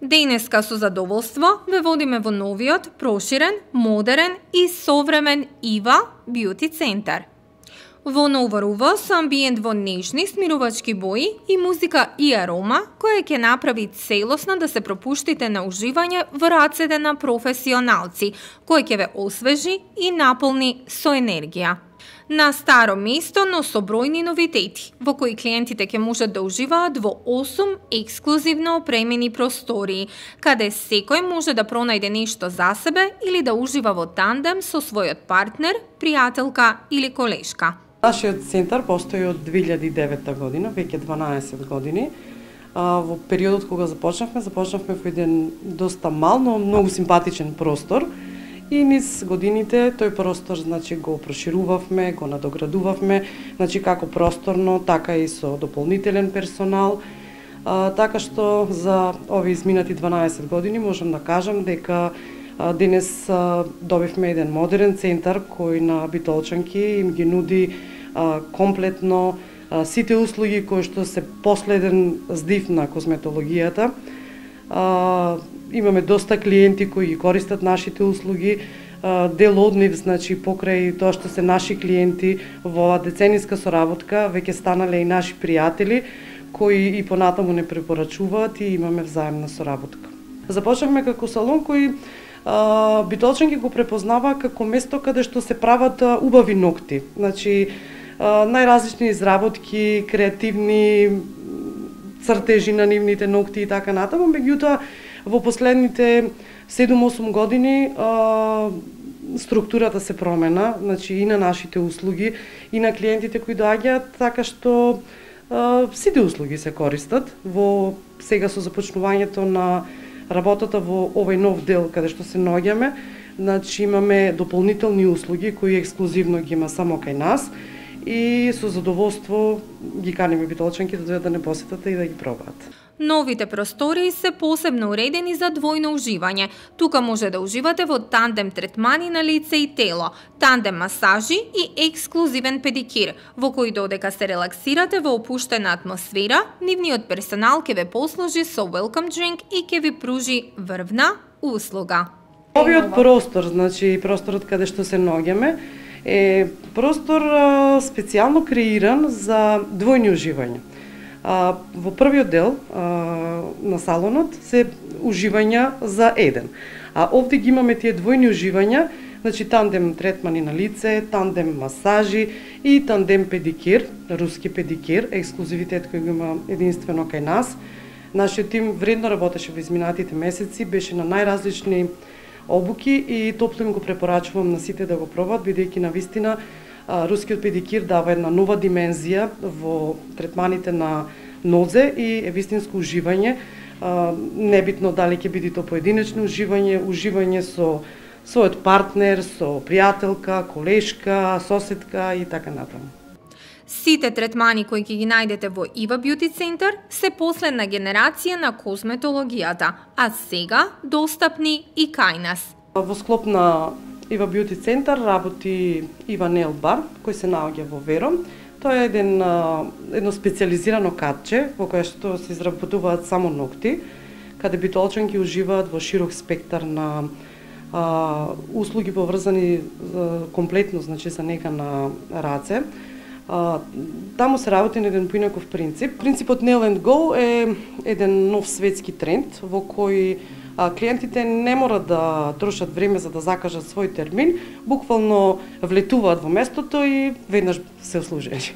Денеска со задоволство ве водиме во новиот, проширен, модерен и современ Ива Бјути центар. Во нова рува со амбиент во нежни смирувачки бои и музика и арома, која ќе направи целосно да се пропуштите на уживање во рацете на професионалци, кој ќе ве освежи и наполни со енергија. На старо место, но со бројни новитети, во кои клиентите ќе можат да уживаат во 8 ексклузивно опремени простории, каде секој може да пронајде нешто за себе или да ужива во тандем со својот партнер, пријателка или колешка. Нашиот центар постои од 2009 година, веќе 12 години. Во периодот кога започнавме во еден доста мал, но многу симпатичен простор. И низ годините тој простор го проширувавме, го надоградувавме, како просторно, така и со дополнителен персонал. Така што за овие изминати 12 години можам да кажам дека денес добивме еден модерен центар кој на битолчанки им ги нуди комплетно сите услуги кои што се последен здив на косметологијата. Имаме доста клиенти кои ги користат нашите услуги, дел од нив, покрај тоа што се наши клиенти во децениска соработка, веќе станале и наши пријатели кои и понатаму не препорачуваат и имаме взаемна соработка. Започнавме како салон кој битолчанки го препознава како место каде што се прават убави ногти. Најразлични изработки, креативни цртежи на нивните ногти и така натаму, меѓутоа во последните 7-8 години структурата се промена, и на нашите услуги, и на клиентите кои доаѓаат, така што сите услуги се користат во сега со започнувањето на работата во овој нов дел каде што се наоѓаме. Имаме дополнителни услуги кои ексклузивно ги има само кај нас и со задоволство ги каниме битолчанки да не посетат и да ги пробаат. Новите простории се посебно уредени за двојно уживање. Тука може да уживате во тандем третмани на лице и тело, тандем масажи и ексклузивен педикир, во кој додека се релаксирате во опуштена атмосфера, нивниот персонал ќе ве послужи со welcome drink и ќе ви пружи врвна услуга. Овиот простор, просторот каде што се наоѓаме, е простор специјално креиран за двојни уживања. Во првиот дел на салонот се уживања за еден. А овде ги имаме тие двојни уживања, тандем третмани на лице, тандем масажи и тандем педикир, руски педикир, ексклузивитет кој го има единствено кај нас. Нашиот тим вредно работеше во изминатите месеци, беше на најразлични обуки и топло им го препорачувам на сите да го пробат, бидејќи навистина рускиот педикир дава една нова димензија во третманите на нозе и е вистинско уживање. Небитно дали ќе биде то поединечно уживање со својот партнер, со пријателка, колешка, соседка и така натаму. Сите третмани кои ќе ги најдете во Ива Бјути центар се последна генерација на косметологијата, а сега достапни и кај нас. Во склоп на Ива Бјути центар работи Ива Нейл бар, кој се наоѓа во Веро. Тоа е едно специјализирано катче во кое што се изработуваат само ногти, каде битолчанки уживаат во широк спектар на услуги поврзани комплетно, за нега на раце. Таму се работи на еден поинаков принцип. Принципот Nail and Go е еден нов светски тренд во кој клиентите не мора да трошат време за да закажат свој термин, буквално влетуваат во местото и веднаш се услужени.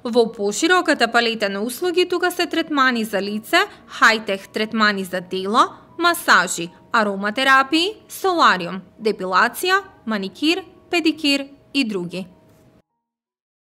Во пошироката палета на услуги тука се третмани за лице, хајтех третмани за тело, масажи, ароматерапии, солариум, депилација, маникир, педикир и други.